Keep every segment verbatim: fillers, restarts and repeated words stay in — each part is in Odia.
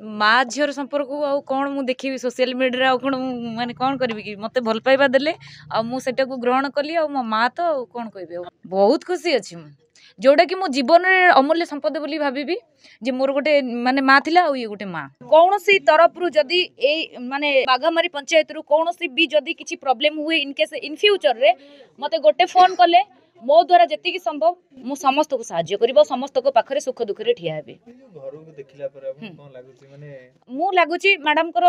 ମା ଝିଅର ସମ୍ପର୍କକୁ ଆଉ କ'ଣ ମୁଁ ଦେଖିବି ସୋସିଆଲ ମିଡ଼ିଆରେ, ଆଉ କ'ଣ ମୁଁ ମାନେ କ'ଣ କରିବି କି? ମୋତେ ଭଲ ପାଇବା ଦେଲେ ଆଉ ମୁଁ ସେଇଟାକୁ ଗ୍ରହଣ କଲି, ଆଉ ମୋ ମା ତ ଆଉ କ'ଣ କହିବି, ଆଉ ବହୁତ ଖୁସି ଅଛି ମୁଁ, ଯେଉଁଟାକି ମୋ ଜୀବନରେ ଅମୂଲ୍ୟ ସମ୍ପଦ ବୋଲି ଭାବିବି ଯେ ମୋର ଗୋଟେ ମାନେ ମା ଥିଲା ଆଉ ଇଏ ଗୋଟେ ମା। କୌଣସି ତରଫରୁ ଯଦି ଏଇ ମାନେ ବାଘମାରୀ ପଞ୍ଚାୟତରୁ କୌଣସି ବି ଯଦି କିଛି ପ୍ରୋବ୍ଲେମ୍ ହୁଏ ଇନ୍ କେସ୍ ଇନ୍ ଫ୍ୟୁଚରରେ, ମୋତେ ଗୋଟେ ଫୋନ୍ କଲେ ମୋ ଦ୍ୱାରା ଯେତିକି ସମ୍ଭବ ମୁଁ ସମସ୍ତଙ୍କୁ ସାହାଯ୍ୟ କରିବ, ସମସ୍ତଙ୍କ ପାଖରେ ସୁଖ ଦୁଃଖରେ ଠିଆ ହେବି। ମୁଁ ଲାଗୁଛି ମ୍ୟାଡ଼ାମଙ୍କର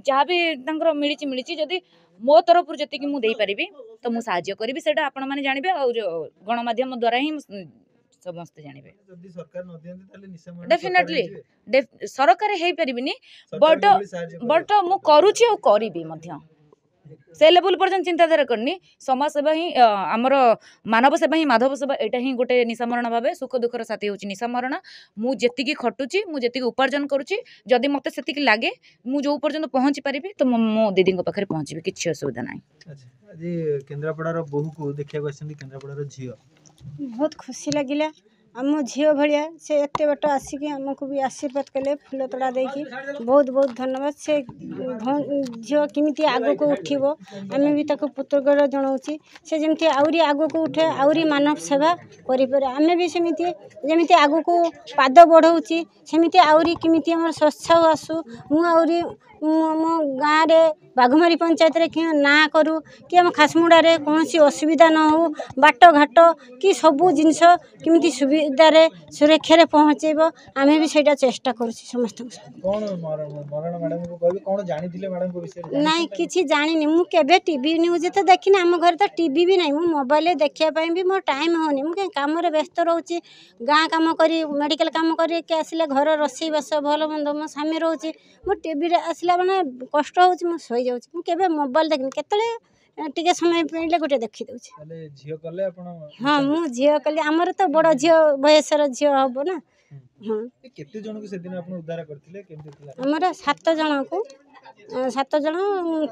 ଯାହା ବି ତାଙ୍କର ମିଳିଛି ମିଳିଛି, ଯଦି ମୋ ତରଫରୁ ଯେତିକି ମୁଁ ଦେଇପାରିବି ତ ମୁଁ ସାହାଯ୍ୟ କରିବି, ସେଇଟା ଆପଣମାନେ ଜାଣିବେ ଆଉ ଗଣମାଧ୍ୟମ ଦ୍ୱାରା ହିଁ ସମସ୍ତେ ଜାଣିବେ। ଡେଫିନେଟଲି ସରକାର ହେଇପାରିବିନି, ବଟ୍ ବଟ୍ ମୁଁ କରୁଛି ଆଉ କରିବି ମଧ୍ୟ। ସେ ଲେବୁଲ୍ ପର୍ଯ୍ୟନ୍ତ ଚିନ୍ତାଧାରା କରିନି। ସମାଜ ସେବା ହିଁ ଆମର ମାନବ ସେବା ହିଁ ମାଧବ ସେବା, ଏଇଟା ହିଁ ଗୋଟେ ନିଶାମରଣ ଭାବେ। ସୁଖ ଦୁଃଖର ସାଥୀ ହେଉଛି ନିଶାମରଣ। ମୁଁ ଯେତିକି ଖଟୁଛି, ମୁଁ ଯେତିକି ଉପାର୍ଜନ କରୁଛି, ଯଦି ମୋତେ ସେତିକି ଲାଗେ ମୁଁ ଯେଉଁ ପର୍ଯ୍ୟନ୍ତ ପହଞ୍ଚି ପାରିବି ତ ମୁଁ ମୋ ଦିଦିଙ୍କ ପାଖରେ ପହଞ୍ଚିବି, କିଛି ଅସୁବିଧା ନାହିଁ। ଆଜି କେନ୍ଦ୍ରାପଡ଼ାର ବୋହୂକୁ ଦେଖିବାକୁ ଆସିଛନ୍ତି କେନ୍ଦ୍ରାପଡ଼ାର ଝିଅ, ବହୁତ ଖୁସି ଲାଗିଲା। ଆମ ଝିଅ ଭଳିଆ ସେ ଏତେ ବାଟ ଆସିକି ଆମକୁ ବି ଆଶୀର୍ବାଦ କଲେ ଫୁଲ ତୋଡ଼ା ଦେଇକି, ବହୁତ ବହୁତ ଧନ୍ୟବାଦ। ସେ ଝିଅ କେମିତି ଆଗକୁ ଉଠିବ ଆମେ ବି ତାକୁ କୃତଜ୍ଞତା ଜଣାଉଛି। ସେ ଯେମିତି ଆହୁରି ଆଗକୁ ଉଠେ, ଆହୁରି ମାନବ ସେବା କରିପାରେ। ଆମେ ବି ସେମିତି ଯେମିତି ଆଗକୁ ପାଦ ବଢ଼ଉଛି, ସେମିତି ଆହୁରି କେମିତି ଆମର ସ୍ୱଚ୍ଛ ଆସୁ। ମୁଁ ଆହୁରି ମୋ ଗାଁରେ ବାଘମାରୀ ପଞ୍ଚାୟତରେ କି ନାଁ କରୁ କି ଆମ ଖାସମୁଡ଼ାରେ କୌଣସି ଅସୁବିଧା ନ ହେଉ, ବାଟଘାଟ କି ସବୁ ଜିନିଷ କେମିତି ସୁବିଧାରେ ସୁରକ୍ଷାରେ ପହଞ୍ଚେଇବ, ଆମେ ବି ସେଇଟା ଚେଷ୍ଟା କରୁଛୁ ସମସ୍ତଙ୍କୁ। ନାଇଁ, କିଛି ଜାଣିନି ମୁଁ, କେବେ ଟିଭି ନ୍ୟୁଜ୍ ତ ଦେଖିନି। ଆମ ଘରେ ତ ଟିଭି ବି ନାହିଁ। ମୁଁ ମୋବାଇଲରେ ଦେଖିବା ପାଇଁ ବି ମୋର ଟାଇମ୍ ହେଉନି। ମୁଁ କାହିଁ କାମରେ ବ୍ୟସ୍ତ ରହୁଛି, ଗାଁ କାମ କରି, ମେଡ଼ିକାଲ କାମ କରିକି ଆସିଲେ ଘର ରୋଷେଇବାସ ଭଲ ମନ୍ଦ ମୋ ସ୍ୱାମୀ ରହୁଛି। ମୁଁ ଟିଭିରେ ଆସିଲା ମାନେ କଷ୍ଟ ହେଉଛି, ମୁଁ ଶୋଇଯାଉଛି। ମୁଁ କେବେ ମୋବାଇଲ ଦେଖିନି, କେତେବେଳେ ଟିକେ ସମୟ ପାଇଲେ ଗୋଟେ ଦେଖିଦେଉଛି। ହଁ, ମୁଁ ଝିଅ କଲି, ଆମର ତ ବଡ଼ ଝିଅ ବୟସର ଝିଅ ହେବ ନା। ହଁ, କେତେ ଜଣଙ୍କୁ ସେଦିନ ଆପଣ ଉଦ୍ଧାର କରିଥିଲେ? ଆମର ସାତ ଜଣକୁ, ସାତ ଜଣ,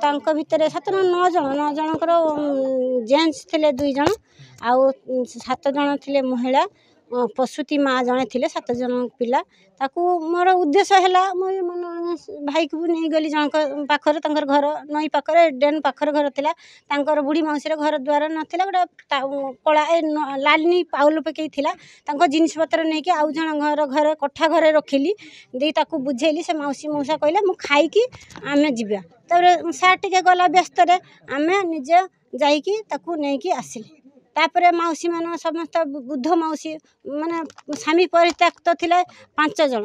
ତାଙ୍କ ଭିତରେ ସାତ ଜଣ ନଅ ଜଣ, ନଅ ଜଣଙ୍କର ଜେଣ୍ଟସ୍ ଥିଲେ ଦୁଇ ଜଣ, ଆଉ ସାତ ଜଣ ଥିଲେ ମହିଳା, ପ୍ରସୂତି ମା ଜଣେ ଥିଲେ, ସାତ ଜଣ ପିଲା। ତାକୁ ମୋର ଉଦ୍ଦେଶ୍ୟ ହେଲା, ମୁଁ ଭାଇକୁ ବି ନେଇଗଲି ଜଣଙ୍କ ପାଖରେ, ତାଙ୍କର ଘର ନଈ ପାଖରେ ଡ୍ରେନ୍ ପାଖରେ ଘର ଥିଲା। ତାଙ୍କର ବୁଢ଼ୀ ମାଉସୀର ଘର ଦ୍ୱାର ନଥିଲା, ଗୋଟେ କଳା ଏ ଲାଲି ପାଉଲ ପକେଇ ଥିଲା। ତାଙ୍କ ଜିନିଷପତ୍ର ନେଇକି ଆଉ ଜଣ ଘର ଘରେ କୋଠା ଘରେ ରଖିଲି, ଦେଇ ତାକୁ ବୁଝେଇଲି। ସେ ମାଉସୀ ମଉସା କହିଲେ ମୁଁ ଖାଇକି ଆମେ ଯିବା। ତାପରେ ସାର୍ ଟିକେ ଗଲା ବ୍ୟସ୍ତରେ, ଆମେ ନିଜେ ଯାଇକି ତାକୁ ନେଇକି ଆସିଲି। ତାପରେ ମାଉସୀମାନ ସମସ୍ତ ବୃଦ୍ଧ ମାଉସୀ ମାନେ ସ୍ୱାମୀ ପରିତ୍ୟକ୍ତ ଥିଲେ ପାଞ୍ଚ ଜଣ,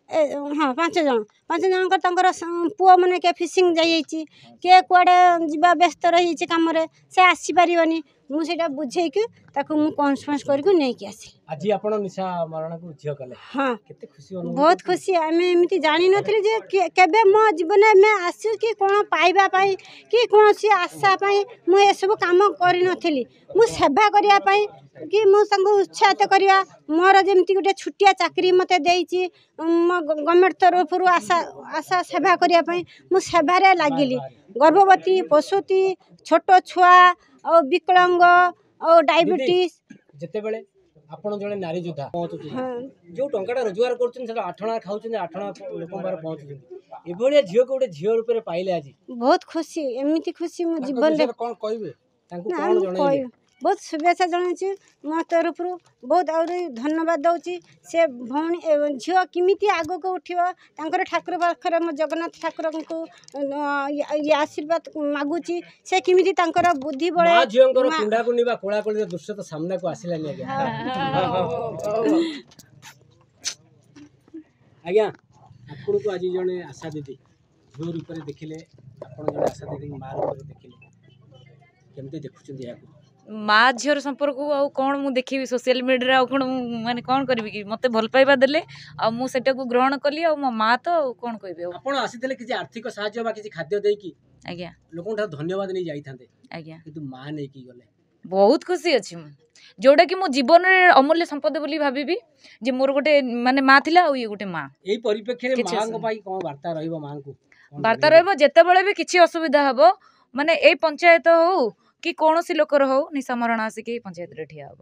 ଏ ହଁ ପାଞ୍ଚ ଜଣ, ପାଞ୍ଚ ଜଣଙ୍କର ତାଙ୍କର ପୁଅମାନେ କିଏ ଫିସିଂ ଯାଇଯାଇଛି, କିଏ କୁଆଡ଼େ ଯିବା ବ୍ୟସ୍ତ ରହିଯାଇଛି କାମରେ, ସେ ଆସିପାରିବନି। ମୁଁ ସେଇଟା ବୁଝେଇକି ତାକୁ ମୁଁ କନଫରେନ୍ସ କରିକି ନେଇକି ଆସିଲି। ଆଜି ଆପଣ ନିଶା ମରଣକୁ ଝିଅ କଲେ? ହଁ, କେତେ ଖୁସି? ବହୁତ ଖୁସି। ଆମେ ଏମିତି ଜାଣିନଥିଲି ଯେ କେବେ ମୋ ଜୀବନରେ ଆମେ ଆସୁ କି କ'ଣ ପାଇବା ପାଇଁ କି କୌଣସି ଆଶା ପାଇଁ ମୁଁ ଏସବୁ କାମ କରିନଥିଲି। ମୁଁ ସେବା କରିବା ପାଇଁ କି ମୁଁ ତାଙ୍କୁ ଉତ୍ସାହିତ କରିବା, ମୋର ଯେମିତି ଗୋଟେ ଛୋଟିଆ ଚାକିରି ମୋତେ ଦେଇଛି ମୋ ଗଭର୍ଣ୍ଣମେଣ୍ଟ ତରଫରୁ, ଆଶା ଆଶା ସେବା କରିବା ପାଇଁ ମୁଁ ସେବାରେ ଲାଗିଲି। ଗର୍ଭବତୀ, ପ୍ରସୂତି, ଛୋଟ ଛୁଆ ଆଉ ବିକଳାଙ୍ଗ ଆଉ ଡାଇବେଟିସ୍। ଯେତେବେଳେ ଆପଣ ଜଣେ ନାରୀ ଯୋଦ୍ଧା ପହଞ୍ଚୁଛନ୍ତି, ଯୋଉ ଟଙ୍କାଟା ରୋଜଗାର କରୁଛନ୍ତି ସେଟା ଆଠଣା ଖାଉଛନ୍ତି, ଆଠଣା ଲୋକଙ୍କ ପାଖରେ ପହଞ୍ଚୁଛନ୍ତି, ଏଭଳିଆ ଝିଅକୁ ଗୋଟେ ଝିଅ ରୂପରେ ପାଇଲେ ଆଜି ବହୁତ ଖୁସି। ଏମିତି ଖୁସି ମୋ ଜୀବନରେ କ'ଣ କହିବେ ତାଙ୍କୁ, କ'ଣ ଜଣେଇବେ? ବହୁତ ଶୁଭେଚ୍ଛା ଜଣାଉଛି ମୋ ତରଫରୁ, ବହୁତ ଆହୁରି ଧନ୍ୟବାଦ ଦେଉଛି। ସେ ଭଉଣୀ ଝିଅ କେମିତି ଆଗକୁ ଉଠିବ ତାଙ୍କର ଠାକୁର ପାଖରେ ମୁଁ ଜଗନ୍ନାଥ ଠାକୁରଙ୍କୁ ଆଶୀର୍ବାଦ ମାଗୁଛି, ସେ କେମିତି ତାଙ୍କର ବୁଦ୍ଧି ବଳେ। ଝିଅଙ୍କର କୁଣ୍ଡାକୁଣ୍ଡି ବା କୋଳାକୋଳିର ଦୃଶ୍ୟ ତ ସାମ୍ନାକୁ ଆସିଲାନି। ଆଜ୍ଞା, ଆଜ୍ଞା, ଆପଣଙ୍କୁ ଆଜି ଜଣେ ଆଶା ଦିଦି ଝିଅ ରୂପରେ ଦେଖିଲେ, ଆପଣ ଜଣେ ଆଶା ଦିଦିଙ୍କୁ ମା ରୂପରେ ଦେଖିଲେ, କେମିତି ଦେଖୁଛନ୍ତି ଏହାକୁ? ମା ଝିଅର ସମ୍ପର୍କକୁ ଆଉ କ'ଣ ମୁଁ ଦେଖିବି ସୋସିଆଲ ମିଡ଼ିଆରେ, ଆଉ କ'ଣ ମୁଁ ମାନେ କ'ଣ କରିବି କି? ମୋତେ ଭଲ ପାଇବା ଦେଲେ ଆଉ ମୁଁ ସେଇଟାକୁ ଗ୍ରହଣ କଲି, ଆଉ ମୋ ମା ତ ଆଉ କ'ଣ କହିବି। ଆଉ ଆପଣ ଆସିଥିଲେ କିଛି ଆର୍ଥିକ ସାହାଯ୍ୟ ବା କିଛି ଖାଦ୍ୟ ଦେଇକି, ଆଜ୍ଞା, ଲୋକଙ୍କ ଠାରୁ ଧନ୍ୟବାଦ ନେଇ ଯାଇଥାନ୍ତେ, ଆଜ୍ଞା, କିନ୍ତୁ ମା ନେଇକି ଗଲେ। ବହୁତ ଖୁସି ଅଛି ମୁଁ, ଯେଉଁଟାକି ମୋ ଜୀବନରେ ଅମୂଲ୍ୟ ସମ୍ପଦ ବୋଲି ଭାବିବି ଯେ ମୋର ଗୋଟେ ମାନେ ମା ଥିଲା ଆଉ ଇଏ ଗୋଟେ ମା। ଏଇ ପରିପ୍ରେକ୍ଷୀରେ ମାଙ୍କ ପାଇଁ କ'ଣ ବାର୍ତ୍ତା ରହିବ? ମାଙ୍କୁ ବାର୍ତ୍ତା ରହିବ, ଯେତେବେଳେ ବି କିଛି ଅସୁବିଧା ହେବ, ମାନେ ଏଇ ପଞ୍ଚାୟତ ହଉ କି କୌଣସି ଲୋକର ହଉ, ନିଶା ମରଣ ଆସିକି ପଞ୍ଚାୟତରେ ଠିଆ ହେବ।